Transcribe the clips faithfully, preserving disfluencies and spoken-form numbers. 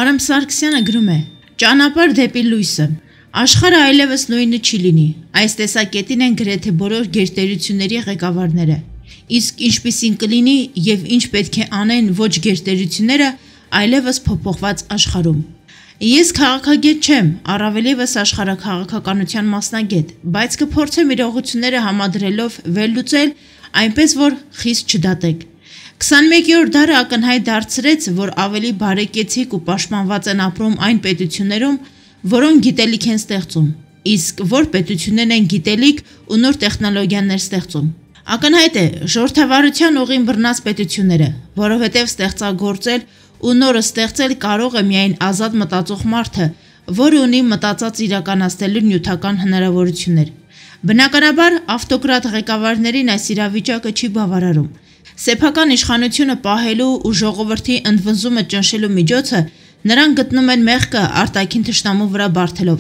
Արամ Սարգսյանը գրում է. «Ճանապարհ դեպի լույսը։ Աշխարհը այլևս նույնը չի լինի։ Այս տեսակետին են գրեթե բոլոր գերտերությունների ղեկավարները։ Իսկ ինչպիսին կլինի եւ ինչ պետք է անեն ոչ գերտերությունները այլևս փոփոխված աշխարհում։ Ես քաղաքագետ չեմ, առավելևս աշխարհաքաղաքականության մասնագետ, բայց կփորձեմ իրողությունները համադրելով վերլուծել այնպես, որ խիստ չդատեք։ քսանմեկերորդ դարը ակնհայտ դարձրեց, որ ավելի բարեկեցիկ ու պաշտպանված են ապրում այն պետություններում, որոնք գիտելիք են ստեղծում, իսկ որ պետություններն են գիտելիք ու նոր տեխնոլոգիաներ ստեղծում։ Ակնհայտ է ժողովրդավարության ուղին բռնած պետությունները, որովհետև ստեղծագործել ու նորը ստեղծել կարող է միայն ազատ մտածող մարդը, որը ունի մտածած իրականացնելու նյութական հնարավորություններ։ Բնականաբար, ավտոկրատ ղեկավարներին այս իրավիճակը չի բավարարում։ Սեփական իշխանությունը պահելու ու ժողովրդի ընդվնձումը ճնշելու միջոցը նրանք գտնում են մեղքը արտաքին թշնամու վրա բարթելով,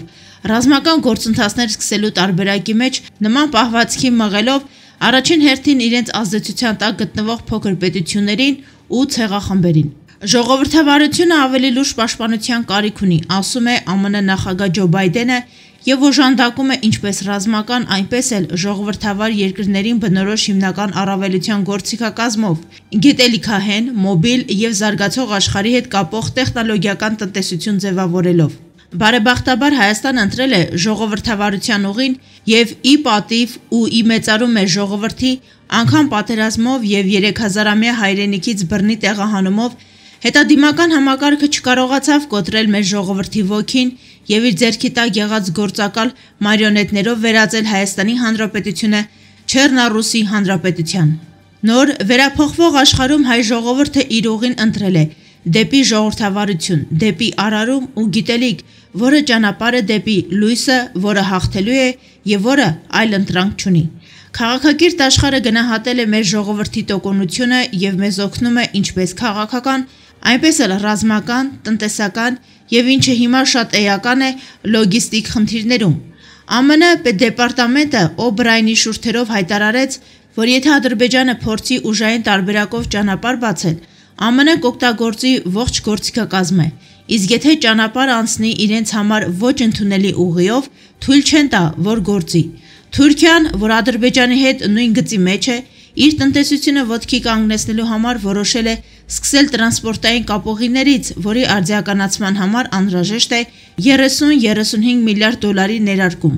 ռազմական գործընթացներ սկսելու տարբերակի մեջ նման պահվածքի մղելով առաջին հերթին իրենց ազդեցության տակ գտնվող փոքր պետություններին ու ցեղախմբերին։ Ժողովրդավարությունը ավելի լուրջ պաշտպանության կարիք ունի, ասում է Ամն նախագահ Ջո Բայդենը եւ օժանդակում է ինչպես ռազմական, այնպես էլ ժողովրդավար երկրներին բնորոշ հիմնական առավելության գործիքակազմով, գիտելիքահեն, մոբիլ եւ զարգացող աշխարհի հետ կապող տեխնոլոգիական տնտեսություն ձևավորելով։ Բարեբախտաբար Հայաստանը ընտրել է ժողովրդավարության ուղին եւ ի պատիվ ու ի մեծարում մեր ժողովրդի անգամ պատերազմով եւ երեք հազարամյա հայրենիքից բռնի տեղահանումով հետադիմական համակարգը չկարողացավ կոտրել մեր ժողովրդի ոգին եւ իր ձեռքի տակ եղած գործակալ մարիոնետներով վերածել Հայաստանի Հանրապետությունը Չեռնառուսի Հանրապետության։ Նոր վերափոխվող աշխարհում հայ ժողովուրդը իր ուղին ընտրել է դեպի ժողովրդավարություն, դեպի արարում ու գիտելիք, որը ճանապարհ է դեպի լույսը, որը հաղթելու է եւ որը այլ ընտրանք չունի։ Քաղաքակիրթ աշխարհը գնահատել է մեր ժողովրդի տոկունությունը եւ մեզ օգնում է ինչպես քաղաքական, այնպես էլ ռազմական, տնտեսական եւ ինչը հիմա շատ էական է լոգիստիկ խնդիրներում։ ԱՄՆ պետդեպարտամենտը Օբրայնի շուրթերով հայտարարեց, որ եթե Ադրբեջանը փորձի ուժային տարբերակով ճանապարհ բացել, ԱՄՆ կօգտագործի ողջ գործիքակազմը, իսկ եթե ճանապարհ անցնի իրենց համար ոչ ընդունելի ուղիով, թույլ չեն տա, որ գործի։ Թուրքիան, որ Ադրբեջանի հետ նույն գծի մեջ է, իր տնտեսությունը ոտքի կանգնեցնելու համար որոշել է սկսել տրանսպորտային կապողիներից, որի արդիականացման համար անհրաժեշտ է երեսուն երեսունհինգ միլիարդ դոլարի ներարկում։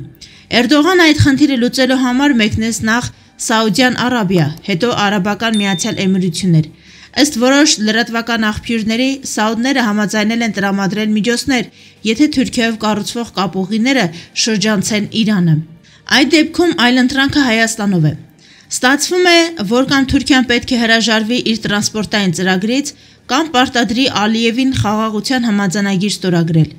Էրդողան այդ խնդիրը լուծելու համար մեկնեց նախ Սաուդյան Արաբիա, հետո Արաբական Միացյալ Էմիրություններ։ Ըստ որոշ լրատվական աղբյուրների, սաուդները համաձայնել են տրամադրել միջոցներ, եթե Թուրքիայով կառուցվող կապողիները շրջանցեն Իրանը։ Այդ դեպքում այլընտրանքը Հայաստանով է։ Ստացվում է, որ կամ Թուրքիան պետք է հրաժարվի իր տրանսպորտային ծրագրից, կամ պարտադրի Ալիևին խաղաղության համաձայնագիր ստորագրել։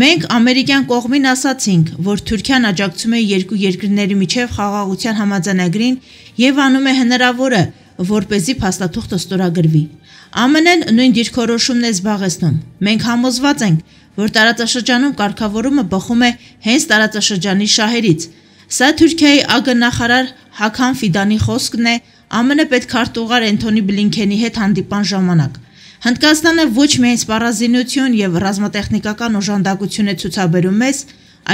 Մենք ամերիկյան կողմին ասացինք, որ Թուրքիան աջակցում է երկու երկրների միջև խաղաղության համաձայնագրին եւ անում է հնարավորը, որպեսզի փաստաթուղթը ստորագրվի։ ԱՄՆ-ն նույն դիրքորոշումն է զբաղեցնում։ Մենք համոզված ենք, որ տարածաշրջանում կարգավորումը բխում է հենց տարածաշրջանի շահերից։ Սա Թուրքիայի ԱԳ-նախարար Հաքան Ֆիդանի խոսքն է ԱՄՆ պետքարտուղար Էնթոնի Բլինքենի հետ հանդիպան ժամանակ։ Հնդկաստանը ոչ միայն սպառազինություն եւ ռազմատեխնիկական օժանդակություն է ցուցաբերում մեզ,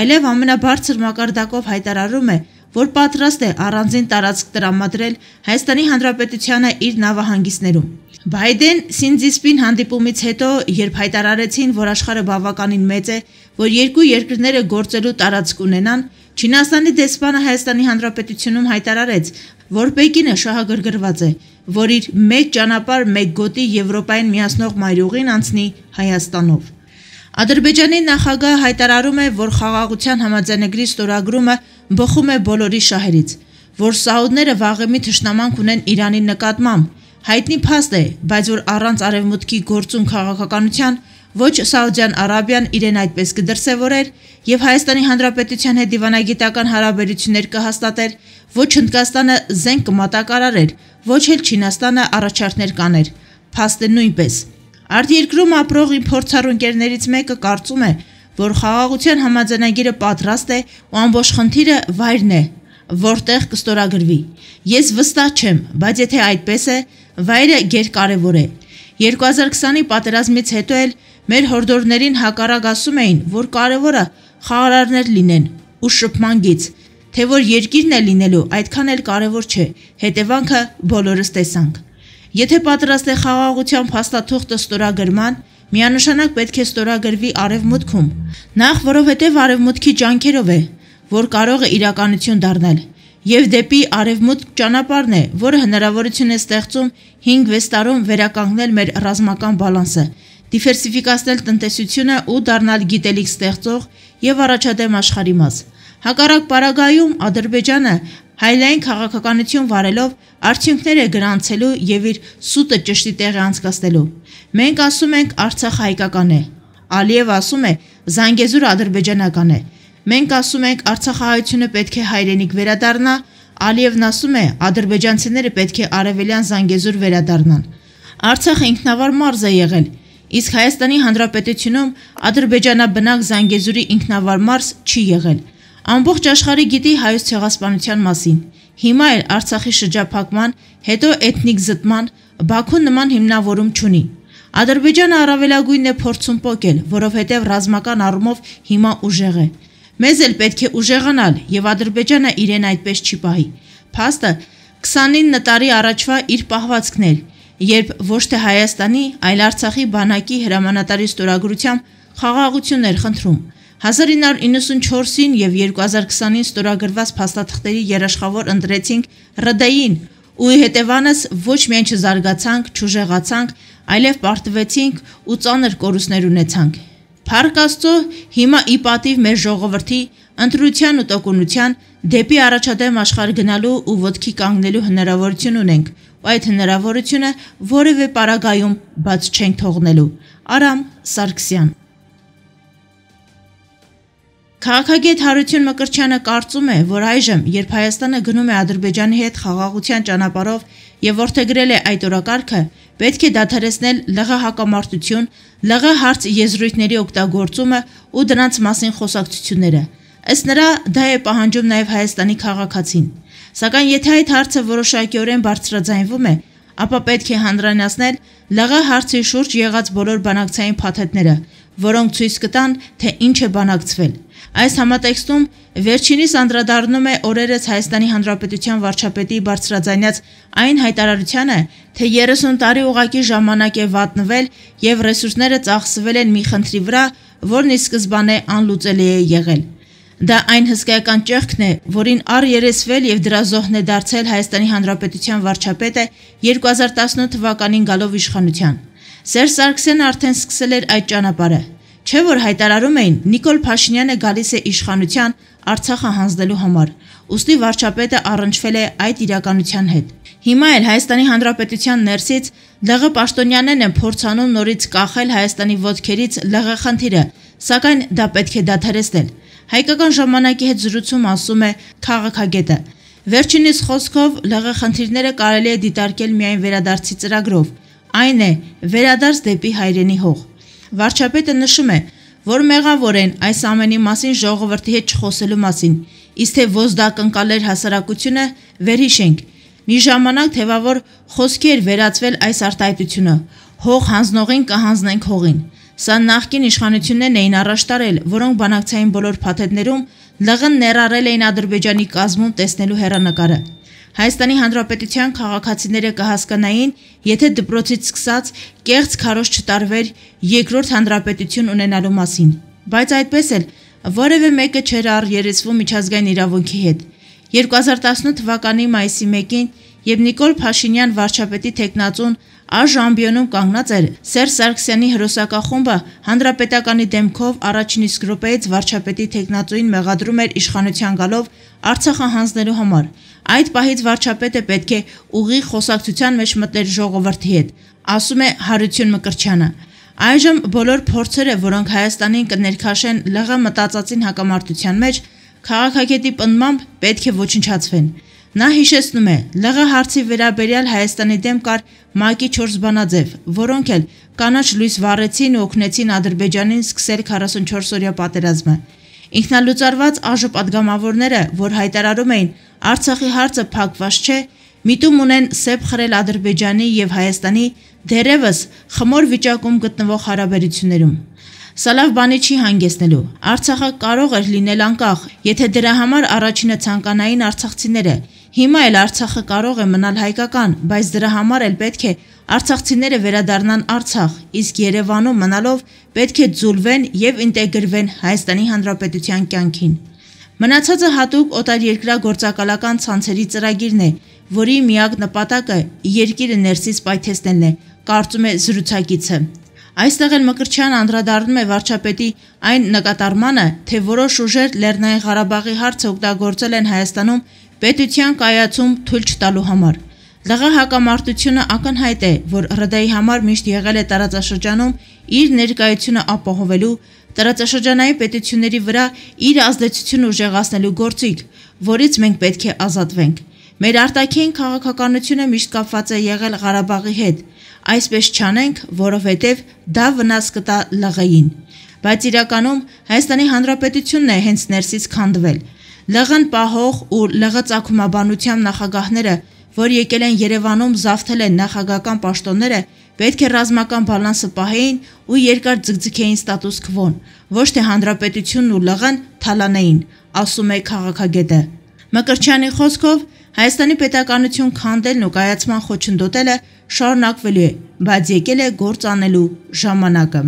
այլև ամենաբարձր մակարդակով հայտարարում է, որ պատրաստ է առանձին տարածք տրամադրել Հայաստանի Հանրապետությանը իր նավահանգիստներում։ Բայդեն-Սինձիսպին հանդիպումից հետո, երբ հայտարարեցին, որ աշխարհը բավականին մեծ է, որ երկու երկրները գործելու տարածք ունենան, Չինաստանի դեսպանը Հայաստանի Հանրապետությունում հայտարարեց, որ Պեկինը շահագրգռված է, որ իր մեկ ճանապարհ, մեկ գոտի Եվրոպային միացնող մայրուղին անցնի Հայաստանով։ Ադրբեջանի նախագահը հայտարարում է, որ խաղաղության համաձայնագրի ստորագրումը բխում է բոլորի շահերից, որ սաուդները վաղեմի թշնամանք ունեն Իրանի նկատմամբ, հայտնի փաստ է, բայց որ առանց արևմուտքի գործուն քաղաքականության ոչ Սաուդյան Արաբիան իրեն այդպես կդրսևորեր եւ Հայաստանի Հանրապետության հետ դիվանագիտական հարաբերություններ կհաստատեր, ոչ Հնդկաստանը զենք կմատակարարեր, ոչ էլ Չինաստանը առաջարկներ կաներ, փաստը նույնպես։ Արտերկրում ապրող իմ փորձառու ընկերներից մեկը կարծում է, որ խաղաղության համաձայնագիրը պատրաստ է ու ամբողջ խնդիրը վայրն է, որտեղ կստորագրվի։ Ես վստահ չեմ, բայց եթե այդպես է, վայրը գերկարևոր է։ երկու հազար քսանի պատերազմից հետո էլ Մեր հորդորներին հակառակ ասում էին, որ կարևորը խաղարարներ լինեն ու շփման գիծ, թե որ երկիրն է լինելու այդքան էլ կարևոր չէ, հետևանքը բոլորս տեսանք։ Եթե պատրաստ է խաղաղության փաստաթուղթը ստորագրման, միանշանակ պետք է ստորագրվի արևմուտքում, նախ որովհետև արևմուտքի ջանքերով է, որ կարող է իրականություն դառնալ, եւ դեպի արևմուտք ճանապարհն է, որը հնարավորություն է ստեղծում հինգ-վեց տարում վերականգնել մեր ռազմական բալանսը, դիվերսիֆիկացնել տնտեսությունը ու դառնալ գիտելիք ստեղծող եւ առաջադեմ աշխարհի մաս։ Հակառակ պարագայում Ադրբեջանը հայլային քաղաքականություն վարելով արդյունքներ է գրանցելու եւ իր սուտը ճշտի տեղը անցկացնելու։ Մենք ասում ենք Արցախը հայկական է, Ալիև ասում է Զանգեզուրը ադրբեջանական է։ Մենք ասում ենք Արցախահայությունը պետք է հայրենիք վերադառնա, Ալիևն ասում է ադրբեջանցիները պետք է արևելյան Զանգեզուր վերադառնան։ Արցախը ինքնավար մարզ է եղել, իսկ Հայաստանի Հանրապետությունում ադրբեջանաբնակ Զանգեզուրի ինքնավար մարզ չի եղել։ Ամբողջ աշխարհը գիտի հայոց ցեղասպանության մասին։ Հիմա էլ Արցախի շրջափակման, հետո էթնիկ զտման Բաքուն նման հիմնավորում չունի։ Ադրբեջանը առավելագույնն է փորձում պոկել, որովհետև ռազմական առումով հիմա ուժեղ է։ Մեզ էլ պետք է ուժեղանալ, եւ Ադրբեջանը իրեն այդպես չի պահի։ Փաստը քսանինը տարի առաջվա իր պահվածքն էր, երբ ոչ թե Հայաստանի, այլ Արցախի բանակի հրամանատարի ստորագրությամբ խաղաղություն էր խնդրում։ հազար ինը հարյուր իննսունչորսին եւ երկու հազար քսանին ստորագրված փաստաթղթերի երաշխավոր ընտրեցինք Ռ Դ-ին ու հետևանս ոչ միայն չզարգացանք, չուժեղացանք, այլև պարտվեցինք ու ծանր կորուստներ ունեցանք։ Փառք Աստծո, հիմա ի պատիվ մեր ժողովրդի ընտրության ու տոկունության դեպի առաջադեմ աշխարհ գնալու ու ոտքի կանգնելու հնարավորություն ունենք, ու այդ հնարավորությունը որևէ պարագայում բաց չենք թողնելու։ Արամ Սարգսյան։ Քաղաքագետ Հարություն Մկրտչյանը կարծում է, որ այժմ, երբ Հայաստանը գնում է Ադրբեջանի հետ խաղաղության ճանապարհով եւ որդեգրել է այդ օրակարգը, պետք է դադարեցնել ԼՂ հակամարտություն, ԼՂ հարց եզրույթների օգտագործումը ու դրանց մասին խոսակցությունները։ Ըստ նրա, դա է պահանջում նաեւ Հայաստանի քաղաքացին։ Սակայն եթե այդ հարցը որոշակիորեն բարձրաձայնվում է, ապա պետք է հանրայնացնել ԼՂ հարցի շուրջ եղած բոլոր բանակցային փաթեթները, որոնք ցույց կտան, թե ինչ է բանակցվել։ Այս համատեքստում վերջինիս անդրադառնում է օրերս Հայաստանի Հանրապետության վարչապետի բարձրաձայնած այն հայտարարությանը, թե երեսուն տարի ուղղակի ժամանակ է վատնվել եւ ռեսուրսները ծախսվել են մի խնդրի վրա, որն ի սկզբանե անլուծելի է եղել։ Դա այն հսկայական ճեղքն է, որին առերեսվել եւ դրա զոհն է դարձել Հայաստանի Հանրապետության վարչապետը երկու հազար տասնութ թվականին գալով իշխանության։ Սերժ Սարգսյանը արդեն սկսել էր այդ ճանապարհը։ Չէ՞ որ հայտարարում էին Նիկոլ Փաշինյանը գալիս է իշխանության Արցախը հանձնելու համար, ուստի վարչապետը առնչվել է այդ իրականության հետ։ Հիմա էլ Հայաստանի Հանրապետության ներսից ԼՂ պաշտոնյաներն են փորձանում նորից կախել Հայաստանի ոտքերից ԼՂ խնդիրը, սակայն դա պետք է դադարեցնել։ Հայկական ժամանակի հետ զրույցում ասում է քաղաքագետը։ Վերջինիս խոսքով ԼՂ խնդիրները կարելի է դիտարկել միայն վերադարձի ծրագրով, այն է վերադարձ դեպի հայրենի հող։ Վարչապետը նշում է, որ մեղավոր են այս ամենի մասին ժողովրդի հետ չխոսելու մասին, իսկ թե ոզդակ ընկալեր հասարակությունը, վերհիշենք։ Մի ժամանակ թևավոր խոսքի էր վերածվել այս արտահայտությունը. հող հանձնողին կհանձնենք հողին։ Սա նախկին իշխանություններն էին առաջ տարել, որոնք բանակցային բոլոր փաթեթներում ԼՂ-ն ներառել էին Ադրբեջանի կազմում տեսնելու հեռանկարը։ Հայաստանի Հանրապետության քաղաքացիները կհասկանային, եթե դպրոցից սկսած կեղծ քարոզ չտարվեր երկրորդ հանրապետություն ունենալու մասին, բայց այդպես էլ որևէ մեկը չէր առերեսվում միջազգային իրավունքի հետ։ երկու հազար տասնութ թվականի մայիսի մեկին, երբ Նիկոլ Փաշինյան վարչապետի թեկնածուն Աժամբիոնում կանգնած էր, Սերժ Սարգսյանի հրոսակախումբը հանրապետականի դեմքով առաջին իսկ րոպեից վարչապետի թեկնածուին մեղադրում էր իշխանության գալով Արցախը հանձնելու համար։ Այդ պահից վարչապետը պետք է ուղիղ խոսակցության մեջ մտներ ժողովրդի հետ, ասում է Հարություն Մկրտչյանը։ Այժմ բոլոր փորձերը, որոնք Հայաստանին կներքաշեն ԼՂ մտածածին հակամարտության մեջ, քաղաքագետի պնդմամբ պետք է ոչնչացվեն։ Նա հիշեցնում է, ԼՂ հարցի վերաբերյալ Հայաստանի դեմ կար ՄԱԿ-ի չորս բանաձև, որոնք էլ կանաչ լույս վառեցին ու օգնեցին Ադրբեջանին սկսել քառասունչորսօրյա պատերազմը։ Ինքնալուծարված ԱԺ պատգամավորները, որ հայտարարում էին Արցախի հարցը փակված չէ, միտում ունեն սեպ խրել Ադրբեջանի եւ Հայաստանի, դեռևս խմոր վիճակում գտնվող հարաբերություններում։ Սա լավ բանի չի հանգեցնելու։ Արցախը կարող էր լինել անկախ, եթե դրա համար առաջինը ցանկանային արցախցիները։ Հիմա էլ Արցախը կարող է մնալ հայկական, բայց դրա համար էլ պետք է արցախցիները վերադառնան Արցախ, իսկ Երևանում մնալով պետք է ձուլվեն եւ ինտեգրվեն Հայաստանի Հանրապետության կյանքին։ Մնացածը հատուկ օտարերկրյա գործակալական ցանցերի ծրագիրն է, որի միակ նպատակը երկիրը ներսից պայթեցնելն է, կարծում է զրուցակիցը։ Այստեղ էլ Մկրտչյանն անդրադառնում է վարչապետի այն նկատառմանը, թե որոշ ուժեր Լեռնային Ղարաբաղի հարցը օգտագործել են Հայաստանում պետության կայացում թույլ չտալու համար։ ԼՂ հակամարտությունը ակնհայտ է, որ ՌԴ-ի համար միշտ եղել է տարածաշրջանում իր ներկայությունը ապահովելու, տարածաշրջանային պետությունների վրա իր ազդեցությունը ուժեղացնելու գործիք, որից մենք պետք է ազատվենք։ Մեր արտաքին քաղաքականությունը միշտ կապված է եղել Ղարաբաղի հետ, այսպես չանենք, որովհետև դա վնաս կտա ԼՂ-ին։ Բայց իրականում Հայաստանի Հանրապետությունն է հենց ներսից քանդվել։ ԼՂ-ն պահող ու ԼՂ ծագումաբանությամբ նախագահները, որ եկել են Երևանում զավթել են նախագահական պաշտոնները, պետք է ռազմական բալանսը պահեին ու երկար ձգձգեին ստատուս քվոն, ոչ թե Հանրապետությունն ու ԼՂ-ն թալանեին, ասում է քաղաքագետը։ Մկրտչյանի խոսքով Հայաստանի պետականություն քանդելն ու կայացման խոչընդոտելը շարունակվելու է, բայց եկել է գործ անելու ժամանակը։